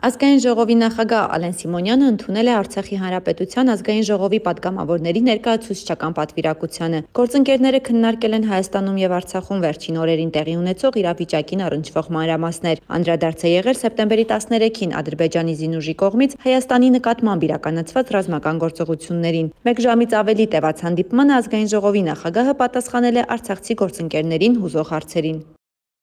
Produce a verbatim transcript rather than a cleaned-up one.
Ազգային ժողովի նախագահ Ալեն Սիմոնյանը ընդունել է Արցախի Հանրապետության ազգային ժողովի պատգամավորների ներկայացուցչական պատվիրակությանը։ Գործընկերները քննարկել են Հայաստանում եւ Արցախում վերջին օրերին տեղի ունեցող իրավիճակին առնչվող մանրամասներ։ Անդրադարձ է եղել սեպտեմբերի տասներեքին Ադրբեջանի զինուժի կողմից Հայաստանի նկատմամբ իրականացված ռազմական գործողություններին։ Մեկ ժամից ավելի տևած հանդիպմանը ազգային ժողովի նախագահը պատասխանել է արցախցի գործընկերներին հուզող հարցերին։